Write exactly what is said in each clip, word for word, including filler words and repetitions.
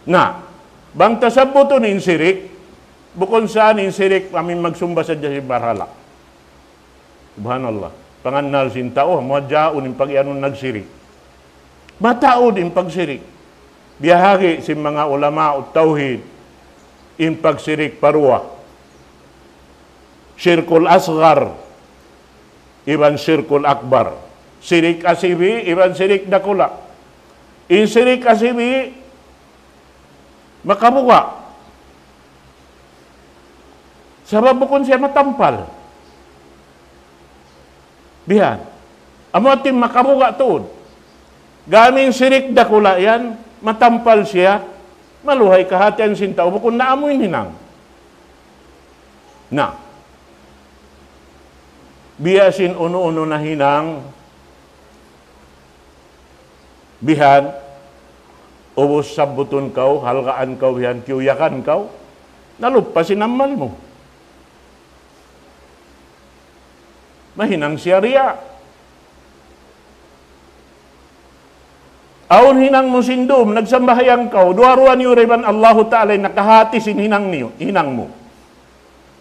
Na, bang ta sabbutun in sirik, bukun sa in sirik amu in magsumba sadja sin barhala'. Subhanallah. Pangannal sin tau, muadjaun in pag-iyanun nagsirik. Mataud in pagsirik. Biyahagi sin manga ulama tawhid, in pagsirik pa duwa. Shirkul asghar, iban shirkul akbar. Sirik asibi', iban sirik dakula'. In sirik asibi', makabuga'. Sabab bukun siya matampal. Bihan. Amu hati makabuga' tuud. Gam in sirik dakula' yan, matampal siya, maluhay kahatihan sin tau, bukun na amu in hinang. Na, biya' sin unu-unu na hinang, bihan, ubus sabbutun kaw, halgaan kaw, bihan, kiyuyakan kaw, naluppas in amal mu. Mahinang siya riya'. Awn hinang mu sin dum, nagsambahayang kaw, duwa-ruwa niyu da iban Allahu Ta'ala in nakahati sin hinang niyu, hinang mu.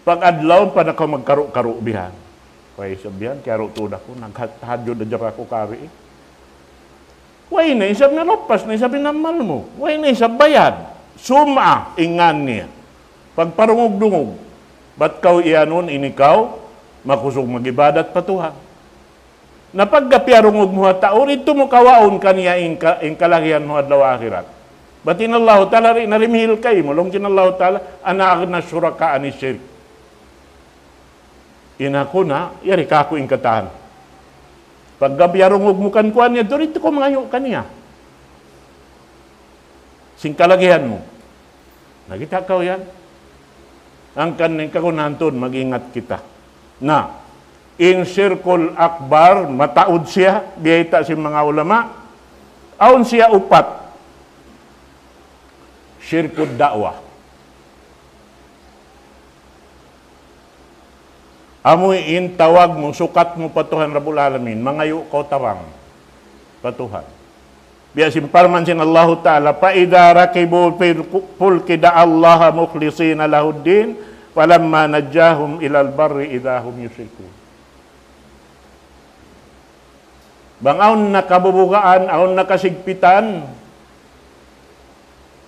Pag-adlaw pa na kaw magkaru'-karu' bihan. Way isab bihan, kiyaru' tuud aku, nagtahajjud hadja aku kari. Way na isab, naluppas na isab in amal mu. Way na isab bayad. Sum'a in ngan niya. Pagparungug-dungug. Bat kaw iyanun, ini kaw makusug mag-ibadat pa Tuhan. Na pagga piyarungug mu ha tau, didtu mu kawaun kaniya in ka-, in kalagihan mu adlaw akhirat. Bat in Allahu Ta'ala di' na dimihil kaymu, laung sin Allahu Ta'ala, أنا أغنى الشركاء عن الشرك. In aku na, yari kāku' in katan. Pagga piyarungug mu kan kuwan niya, didtu kaw mangayu' kaniya sin kalagihan mu. Nakita' kaw yan? Hangkan in kagunahan tuud, mag-ingat kita. Na, in shirkul akbar, mataud siya, biyayta' sin manga ulama, awn siya upat. Shirkud da'wah. Amu in tawag mu, sukat mu pa Tuhan Rabbul Alamin, mangayu' kaw tabang pa Tuhan. Biya' sin parman sin Allahu Ta'ala, فإذا ركبوا في الفلك دعوا الله مخلصين له الدين فلما نجاهم إلى البر إذا هم يشركون. Bang awn na kabubugaan, awn na kasigpitan,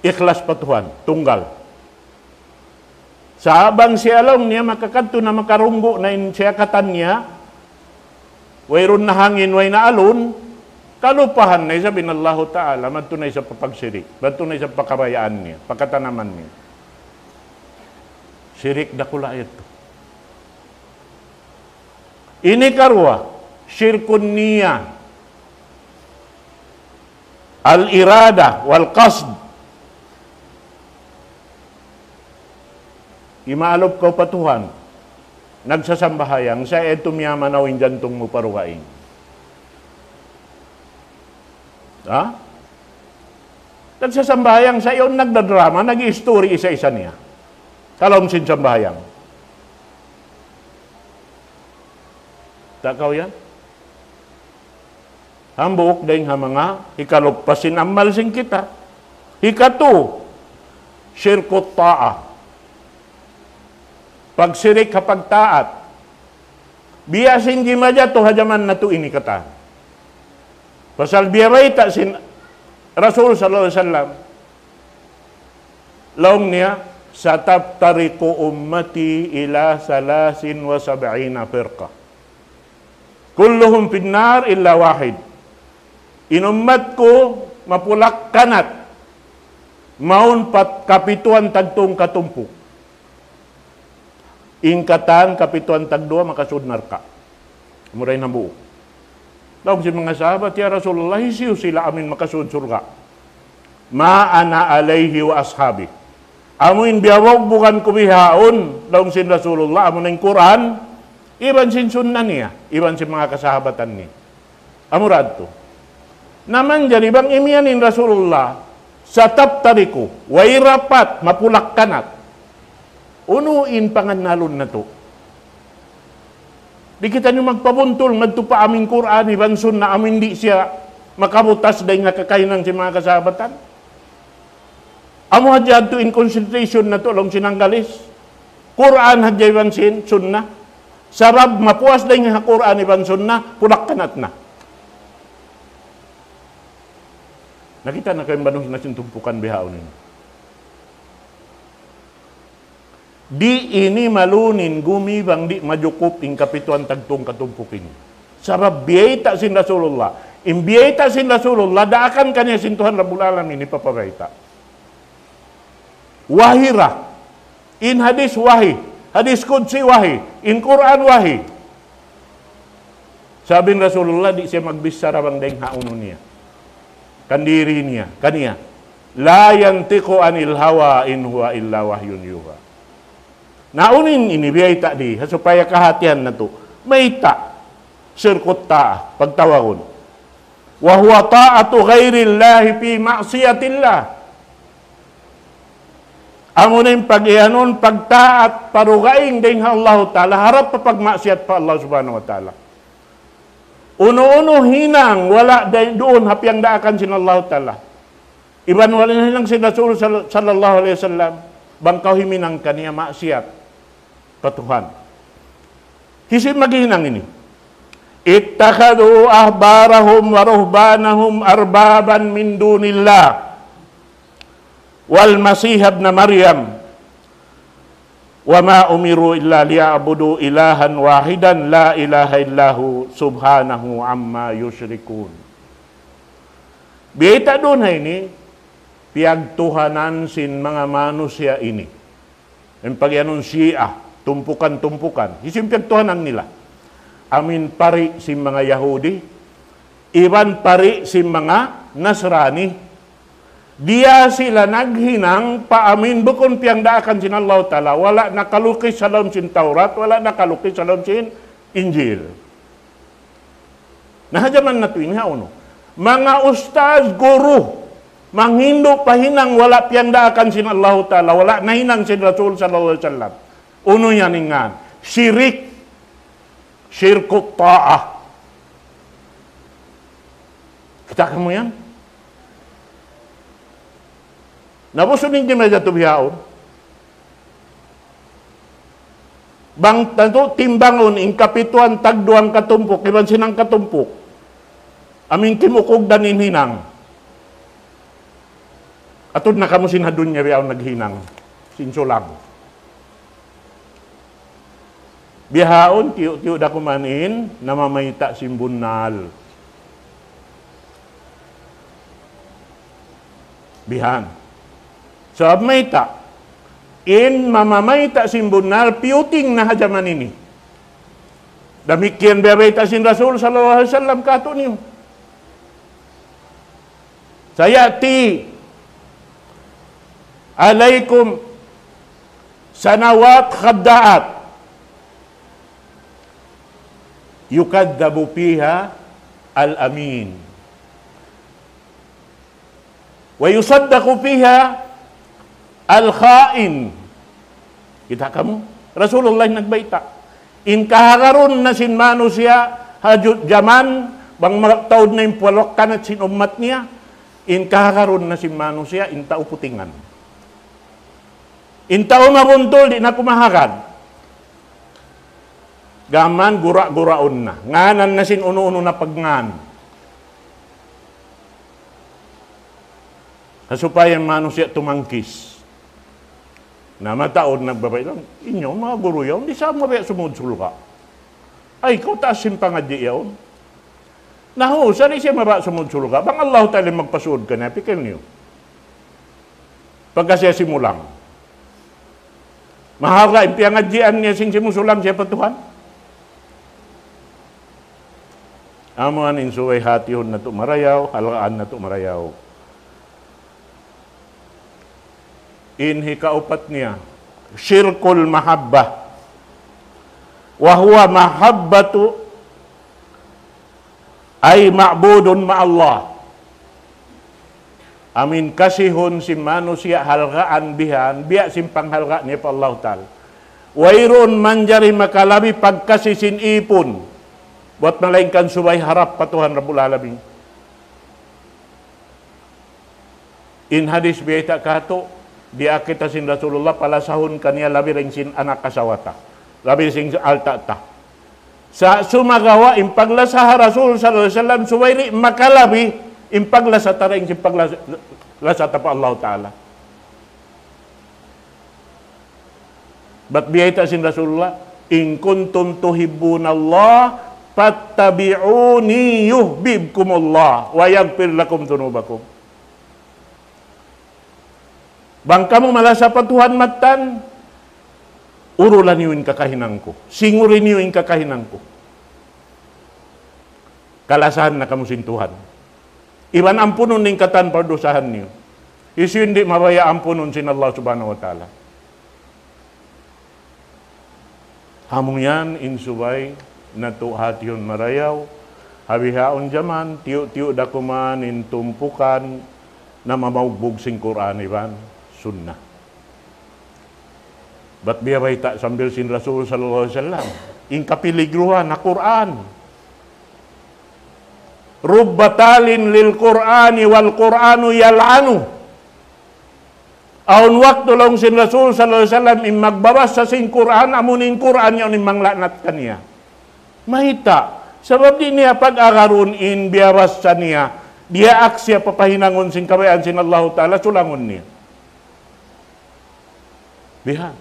ikhlas pa Tuhan, tunggal. Sa' bang siya laung niya makakadtu na, makarunggu' na in siya katan niya, wayruun na hangin, way na alun, kalupahan na isab in Allahu Ta'ala, madtu na isab pa pagsirik, madtu na isab pa kabayaan niya, pa katanaman niya. Sirik dakula' yadtu. Ini karuwa, shirkun niyya, al-irada wal qasd. Imaalup kaw pa Tuhan, nagsasambahayang, sa' yadtu miyamanaw in jantung mu pa dugaing. Ha? Nagsasambahayang sa' yaun nagdadrama, nag-iistori isa-isa niya. Kalaum sin sambahayang. Ta' kaw yan? Hambuuk dayn ha manga hikaluppas sin amal sin kita. Hikatu, shirkut ta'ah. Pagsirik ha pagtaat. Biya' sin jimajatu ha jaman natu' ini katan. Pasal biya' bayta' sin Rasul sallallahu alayhi wasallam. Laung niya, ستفترق أمتي إلى ثلاث وسبعين فرقة كلهم في النار إلا واحد. In ummat ku mapulak-kanat, mawn pa kapituan tagtung katumpuk. In katan kapituan tagduwa makasud narka'. Amu ra in hambuuk. Laung sin manga sahabat, "Ya Rasulullah, hisiyu sila amu in makasud surga'?" "ما أنا عليه وأصحابي." Amu in biyabugbugan ku bihaun, laung sin Rasulullah, amu na in Qur'an, iban sin sunnah niya, iban sin manga kasahabatan niya. Amu ra yadtu. Na manjari bang imiyan in Rasulullah, ستفترق, way rapat, mapulak-kanat. Unu in pangannalun natu'? Di' kitaniyu magpabuntul, madtu pa amu in Qur'an, iban sunnah, amu in di' siya makabutas dayn ha kakahinang sin manga kasahabatan. Amu hadja yadtu in concentration natu' laung sin Anggalis. Qur'an hadja iban sin Sunnah. Sabab mapuas dayn ha Qur'an iban Sunnah, pulak kanat na. Nakita' na kaw in banus na sin tumpukan bihaun ini. Di' ini malunin gumi bang di' majukup in kapituan tagtung katumpuk ini. Sabab biyayta' sin Rasulullah. In biyayta' sin Rasulullah, daakan kaniya sin Tuhan Rabbul Alamin, hipapabayta'. Wahi ra. In hadis wahi. Hadis qudsi wahi. In Qur'an wahi. Sabab in Rasulullah di' siya magbichara bang dayn ha unu niya. Kan diri niya, kaniya. لا ينطق عن الهوى إن هو إلا وحي يوحى. Na unu in ini biyayta' di, ha supaya kahatihan natu'. Mayta', shirkut ta'ah, pagtawagun. وهو طاعة غير الله في معصية الله. Amuna in pag-iyanun, pagtaat, pa dugaing dayn ha Allahu Ta'ala, harap pa pagmaksiyat pa Allah Subhanahu wa Ta'ala. Unu-unu hinang wala' dayn duun ha piyangdaakan sin Allahu Ta'ala. Iban wala' hinang sin Rasul sal-, sallallahu alayhi wasallam, bang kaw himinang kaniya maksiyat pa Tuhan. Hisiyu in maghinang ini? اتخذوا أحبارهم ورهبانهم أربابا من دون الله والمسيح ابن مريم وما أمروا إلا ليعبدوا إلها واحدا لا إله إلا هو سبحانه عما يشركون. Biyayta' duun ha ini, piyagtuhanan sin manga manusiya' ini. In pag'iyanun Shia, tumpukan-tumpukan. Hisiyu in piyagtuhanan nila? Amu in pari' sin manga Yahudi, iban pari' sin manga Nasrani. Diya sila naghinang pa amu in bukun piyangdaakan sin Allahu Ta'ala. Wala' nakalukis ha lawm sin Tawrat, wala' nakalukis ha lawm sin Injil. Na ha jaman natu' ini, ha unu? Manga ustaz, guru, manghindu' pa hinang wala' piyangdaakan sin Allahu Ta'ala, wala' nahinang sin Rasul sallallahu alayhi wasallam. Unu yan in ngan? Shirik. Shirkut ta'ah. Kita' kamu yan? Na busun in jimajatu bihaun. Bang tantu timbangun in kapituan tagduang katumpuk, iban sin hangkatumpuk. Amu in kimukugdan in hinang. Atud na kamu sin ha dunya bihaun naghinang. Sin sulang. Bihaun, tiyu'-tiyu' da kuman in, namamayta' sin bunnal. Bihan. Sabab mayta', in mamamayta' sin bunnal, piyuting na ha jaman ini. Damikkiyan biya' bayta' sin Rasul sallallahu alayhi wasallam kātu'niyu. سيأتي عليكم سنوات خداعات يكذب فيها الأمين ويصدق فيها الخائن. Kita' kamu? Rasulullah in nagbayta'. In kahagarun na sin manusiya', ha ju-, jaman, bang magtaud na in puwalwakan sin ummat niya, in kahagarun na sin manusiya', in tau putingan. In tau mabuntul, di' na kumahagad. Gām gura-guraun na. Ngānan na sin unu-unu na pagngan. Ha supaya in manusiya' tumangkis. Na mataud nagbabay' laung, inyo, manga guru yaun, di' sa mabaya' sumud sulga'. Ay, kaw taas sin pangadji' yaun. Nahu', sa' di' siya mabaya' sumud sulga'. Bang Allahu Ta'ala in magpasud kaniya, pikil niyu. Pagka siya simulang. Maharga in piyangadjian niya sin simusulang siya pa Tuhan. Amu yan in subay hatihun natu' marayaw, halgaan natu' marayaw. In hikaupat niya, shirkul mahabbah. وهو محبة أي معبود مع الله. Amu in kasihun sin manusiya' halgaan bihan, biya' sin panghalga' niya pa Allahu Ta'ala. Wayruun manjari makalabi pagkasi sin ipun. Buwat malaingkan subay harap pa Tuhan Rabbul Alamin. In hadis biyayta' kātu', Diyaak kita sin Rasulullah, palasahun kaniya labi dayn sin anak asawa ta. Labi sin alta' ta. Sa' sumagawa' in paglasa ha Rasul sallallahu alayhi wasallam, subay di' makalabi in paglasa ta dayn sin paglasa, lasa ta pa Allah Ta'ala. Bat biyayta' sin Rasulullah, إن كنتم تحبون الله فاتبعوني يحببكم الله ويغفر لكم ذنوبكم. Bang kamu malasa pa Tuhan mattan, urula niyu in kakahinang ku. Singuri niyu in kakahinang ku. Kalasahan na kamu sin Tuhan. Iban ampunun in katan pardusahan niyu. Hisiyu in di' mabaya' ampunun sin Allah Subhanahu wa Ta'ala. Amu yan in subay natu' hatihun marayaw, ha bihaun jaman, tiyu'-tiyu' da kuman in tumpukan namamaugbug sin Qur'an iban Sunnah. Bat biya' bayta' sambil sin Rasul sallallahu alayhi wasallam, in kapiligruhan ha Qur'an. رب تال للقرآن والقرآن يلعنه. Awn waktu laung sin Rasul sallallahu alayhi wasallam, in magbabasa sin Qur'an, amu in Qur'an yaun in mangla'nat kaniya. Mayta'? Sabab di' niya pag-agarun in biyabasa niya, diyaak siya papahinangun sin kabayaan sin Allahu Ta'ala, sulangun niya. Bihan.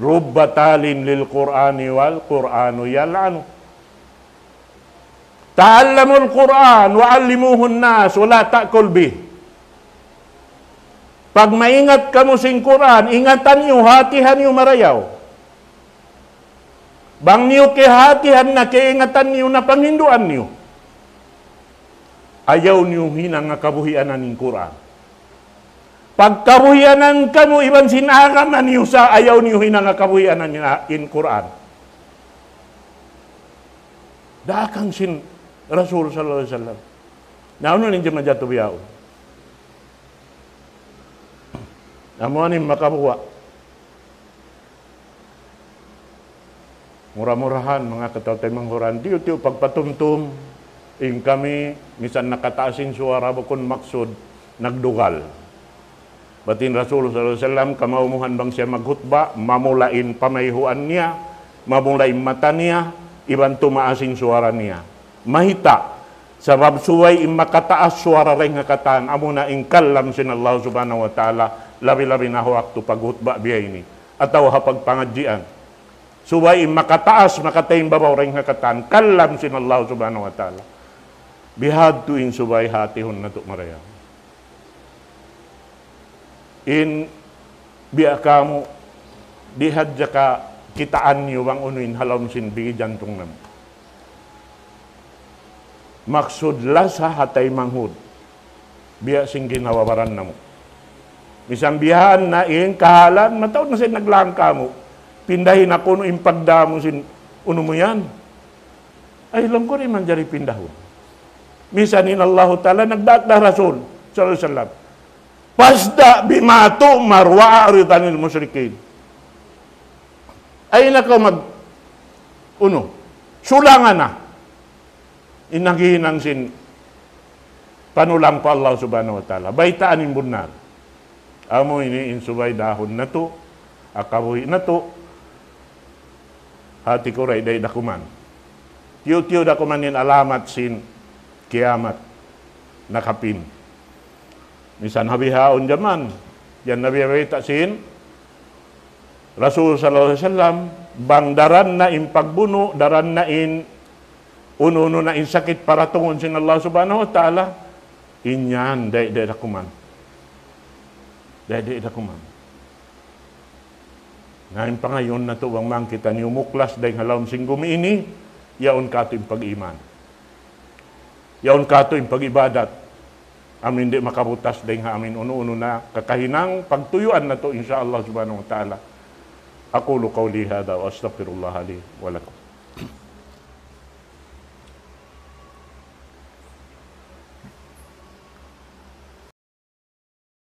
رب تال للقرآن والقرآن يلعنه. تعلموا القرآن وعلموه الناس ولا تأكل به. Pag maingat kamu sin Qur'an, ingatan niyu, hatihan niyu marayaw. Bang niyu kiyahatihan na, kiyaingatan niyu na, panghinduan niyu. Ayaw niyu hinanga kabuhianan in Qur'an. Pagkabuhianan kamu iban sin agama niyu sa, ayaw niyu hinanga kabuhianan in, in Qur'an. Daakan sin Rasul sallallahu alayhi wasallam. Na unu in jama jatu biyaun. Amu ini makabuga. Mura-murahan, manga kataw-taymanghuran, tiyu'-tiyu' pagpatumtum, in kami, misan nakataas in suwara, bukun maksud, nagdugal. Bat in Rasul sallallahu alayhi wasallam, kamaumuhan bang siya maghutba, mamula in pamayhuan niya, mamula in mata niya, iban tumaas in suwara niya. Mayta', sabab subay in makataas suwara dayn ha katan, amuna in kalam sin Allah Subhanahu wa Ta'ala, labi-labi na ha waktu paghutba biya' ini, atawa ha pagpangadjian. Subay in makataas, makataymbabaw dayn ha katan, kalam sin Allah Subhanahu wa Ta'ala. Bihadtu in subay hatihun natu' marayaw. In biya' kamu, di' hadja kakitaan niyu bang unu in ha lawm sin bigi jantung namu'. Maksud lasa ha taymanghud. Biya' sin ginhawa-baran namu'. Misan biya' na in kahalan, mataud na sin naglang kamu. Pindahi na kunu' in pagdamu sin unu mu yan. Ay, lungkuri manjari pindahun. Misan in Allahu Ta'ala nagdaak da Rasul sallallahu alayhi wasallam. فاصدع بما تؤمر وأعرض عن المشركين. Ay na kaw mag, unu, sulanga na. In naghihinang sin panulang pa Allah Subhanahu wa Ta'ala. Baytaan in bunnal. Amu ini in subay dahun natu', ha kabuhi' natu', hati ku ray day dakuman. Tiyu'-tiyu' dakuman in alamat sin kiyamat nakapin. Misan ha bihaun jaman, yan na biya' bayta' sin Rasul sallallahu alayhi wasallam, bang daran na in pagbunu', daran na in unu-unu na in sakit paratungun sin Allah Subhanahu wa Ta'ala, in yan, day-day dakuman. Day-day dakuman. Na in pangayuun natu' bang man kitaniyu muklas dayn ha lawm sin gumi ini, yaun katu' in pag-iman. Yaun katu' in pag-ibadat. Amu in di' makabutas dayn ha amu in unu-unu na kakahinang pagtuyuan natu', insya Allah Subhanahu wa Ta'ala. أقول قولي هذا وأستغفر الله لي ولكم.